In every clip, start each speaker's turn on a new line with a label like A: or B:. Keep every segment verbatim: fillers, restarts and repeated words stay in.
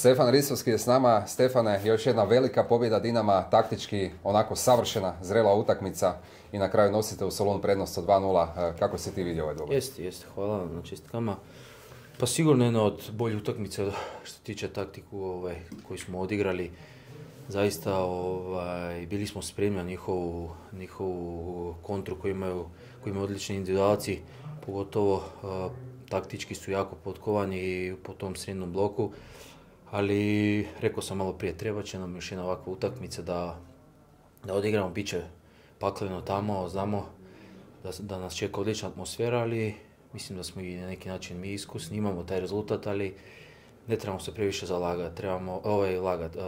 A: Stefan Risovski je s nama. Stefane, još jedna velika pobjeda Dinama, taktički onako savršena, zrela utakmica i na kraju nosite u Solun prednost od dva nula. Kako si ti vidio ovaj dobar?
B: Jeste, jeste, hvala vam na čestitkama. Pa sigurno jedna od boljih utakmica što tiče taktiku ovaj, koju smo odigrali. Zaista ovaj, bili smo spremni na njihovu, njihovu kontru koju imaju, koju imaju odlični individualci, pogotovo uh, taktički su jako potkovani po tom srednjem bloku. Ali, rekao sam malo prije, treba će nam još jedna ovakva utakmica da, da odigramo, bit će pakleno tamo, znamo da, da nas čeka odlična atmosfera, ali mislim da smo i na neki način mi iskusni, imamo taj rezultat, ali ne trebamo se previše zalagati, trebamo, ovaj, lagat, uh,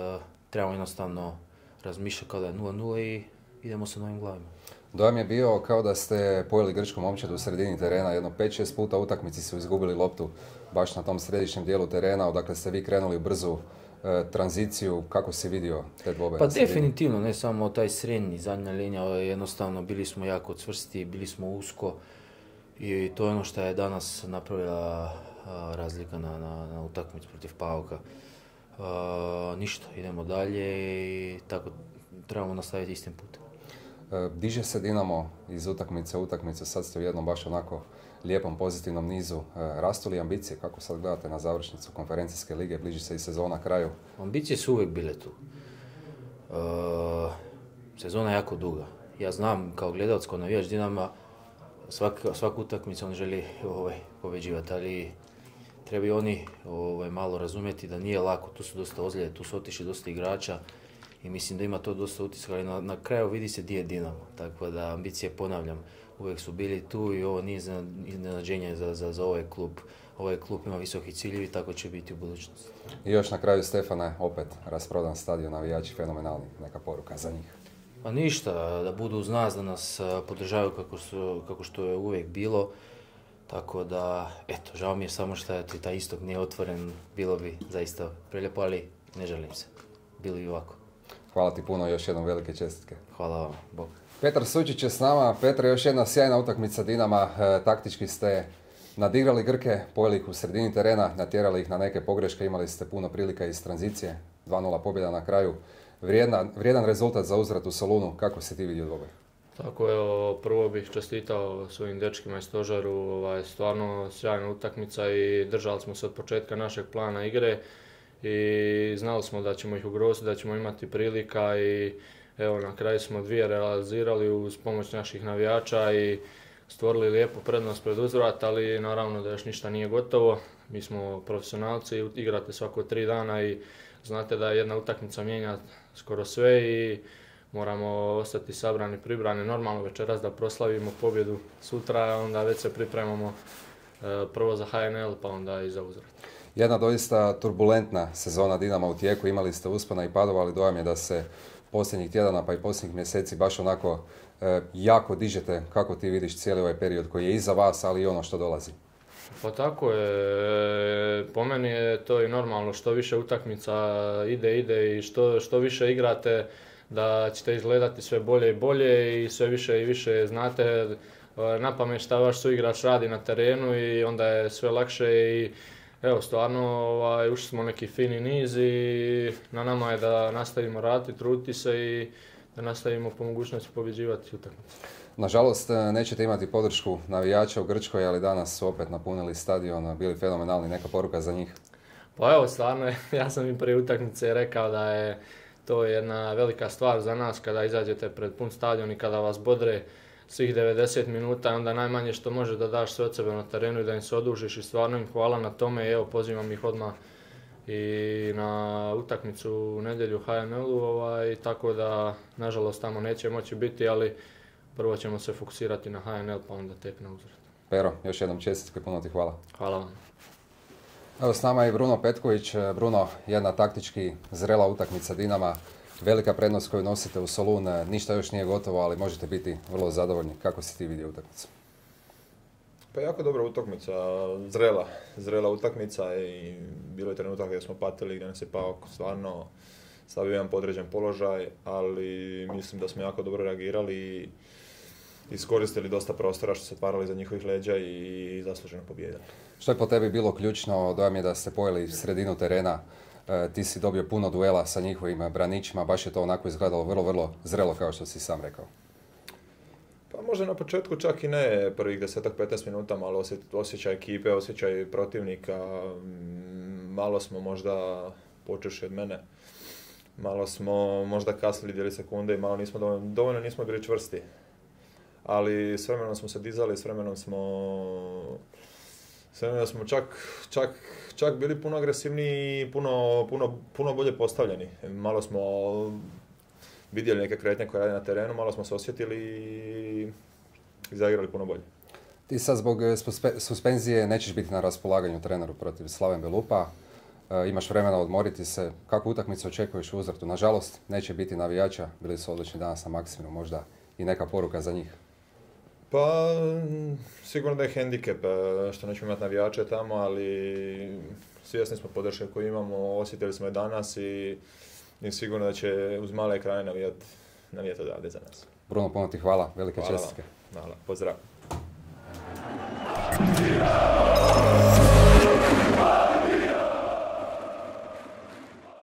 B: trebamo jednostavno razmišljati kao da je nula nula i idemo sa novim glavima.
A: Dojam je bio kao da ste pojeli grčku momčad u sredini terena, jedno pet šest puta u utakmici su izgubili loptu baš na tom središnjem dijelu terena, odakle ste vi krenuli u brzu e, tranziciju. Kako si vidio te dvobe?
B: Pa definitivno, ne samo taj srednji, zadnja linija, jednostavno bili smo jako cvrsti, bili smo usko i to je ono što je danas napravila a, razlika na, na, na utakmicu protiv Pauka. A, ništa, idemo dalje i tako trebamo nastaviti istim putem.
A: Diže se Dinamo iz utakmice u utakmicu, sad ste u jednom baš onako lijepom pozitivnom nizu. Rastu li ambicije? Kako sad gledate na završnicu konferencijske lige? Bliži se i sezona kraju.
B: Ambicije su uvijek bile tu. E, sezona je jako duga. Ja znam kao gledalac, kao navijač Dinama, svak, svaku utakmicu on želi ovaj, pobeđivati, ali treba i oni ovaj, malo razumjeti da nije lako. Tu su dosta ozljede, tu su otišli dosta igrača. I mislim da ima to dosta utiska, ali na, na kraju vidi se gdje je Dinamo. Tako da ambicije, ponavljam, uvijek su bili tu i ovo nije iznenađenje za, za, za ovaj klub. Ovaj klub ima visoki ciljevi, tako će biti u budućnosti.
A: I još na kraju, Stefane, opet rasprodan stadion, navijači fenomenalni, neka poruka za njih.
B: Pa ništa, da budu uz nas, da nas podržavaju kako, su, kako što je uvijek bilo. Tako da, eto, žao mi je samo što je taj istok nije otvoren, bilo bi zaista prelijepo, ali ne želim se. Bilo i ovako.
A: Hvala ti puno i još jednom velike čestitke.
B: Hvala vam, Bog.
A: Petar Sučić je s nama. Petar, još jedna sjajna utakmica Dinama. E, taktički ste nadigrali Grke, pojeli ih u sredini terena, natjerali ih na neke pogreške, imali ste puno prilika iz tranzicije. dva nula pobjeda na kraju. Vrijedan, vrijedan rezultat za uzvrat u Solunu. Kako si ti vidio dvoboj?
C: Tako je, prvo bih čestitao svojim dečkima i stožaru. Ovaj, stvarno sjajna utakmica i držali smo se od početka našeg plana igre. I znali smo da ćemo ih ugroziti, da ćemo imati prilika i evo na kraju smo dvije realizirali uz pomoć naših navijača i stvorili lijepu prednost pred uzvrat, ali naravno da još ništa nije gotovo. Mi smo profesionalci, igrate svako tri dana i znate da jedna utakmica mijenja skoro sve i moramo ostati sabrani, pribrani. Normalno večeras da proslavimo pobjedu sutra, onda već se pripremamo prvo za H N L pa onda i za uzvrat.
A: Jedna doista turbulentna sezona Dinama u tijeku, imali ste uspona i padova, ali dojam je da se posljednjih tjedana pa i posljednjih mjeseci baš onako e, jako dižete. Kako ti vidiš cijeli ovaj period koji je iza vas, ali i ono što dolazi?
C: Pa tako je, po meni je to i normalno, što više utakmica ide, ide i što, što više igrate da ćete izgledati sve bolje i bolje i sve više i više znate na pamet šta vaš suigrač radi na terenu i onda je sve lakše i evo, stvarno ovaj, ušli smo neki fini niz i na nama je da nastavimo raditi, truditi se i da nastavimo po mogućnosti pobjeđivati utakmice.
A: Nažalost, nećete imati podršku navijača u Grčkoj, ali danas su opet napunili stadion, bili fenomenalni. Neka poruka za njih?
C: Pa evo, stvarno, ja sam im prije utakmice rekao da je to jedna velika stvar za nas kada izađete pred pun stadion i kada vas bodre svih devedeset minuta, onda najmanje što može da daš sve od sebe na terenu i da im se odužiš i stvarno im hvala na tome i evo pozivam ih odmah i na utakmicu u nedjelju u H N L-u, ovaj, tako da nažalost tamo neće moći biti, ali prvo ćemo se fokusirati na H N L pa onda tek na uzvrat.
A: Pero, još jednom čestitke, puno ti hvala.
C: Hvala vam.
A: Evo s nama je Bruno Petković. Bruno, jedna taktički zrela utakmica Dinama. Velika prednost koju nosite u Solun, ništa još nije gotovo, ali možete biti vrlo zadovoljni. Kako si ti vidio utakmicu?
D: Pa jako dobra utakmica, zrela, zrela utakmica i bilo je trenutak gdje smo patili, gdje nas je Paok stvarno stavio jedan podređen položaj, ali mislim da smo jako dobro reagirali i iskoristili dosta prostora što se otvarali za njihovih leđa i zasluženo pobijedili.
A: Što je po tebi bilo ključno? Dojam je da ste pojeli sredinu terena. E, ti si dobio puno duela sa njihovim braničima, baš je to onako izgledalo vrlo, vrlo zrelo kao što si sam rekao.
D: Pa možda na početku čak i ne prvih deset do petnaest minuta, malo osjećaj ekipe, osjećaj protivnika, malo smo možda, počevši od mene, malo smo možda kasnili dijeli sekunde i malo nismo dovoljno, dovoljno nismo bili čvrsti. Ali s vremenom smo se dizali, s vremenom smo, s vremenom smo čak, čak, čak bili puno agresivniji i puno, puno, puno bolje postavljeni. Malo smo vidjeli neke kretnje koje rade na terenu, malo smo se osjetili i zaigrali puno bolje.
A: Ti sad zbog suspenzije nećeš biti na raspolaganju treneru protiv Slaven Belupa. E, imaš vremena odmoriti se. Kakvu utakmicu očekuješ u Uzvrtu? Nažalost, neće biti navijača. Bili su odlični danas na Maksimiru, možda i neka poruka za njih.
D: Pa, sigurno da je hendikep što nećemo imati navijače tamo, ali svjesni smo podrške koju imamo, osjetili smo je danas i, i sigurno da će uz male ekrane navijati navijat odavde za nas.
A: Bruno, puno ti hvala, velike
D: Hvala
A: čestitke.
D: Hvala, pozdrav.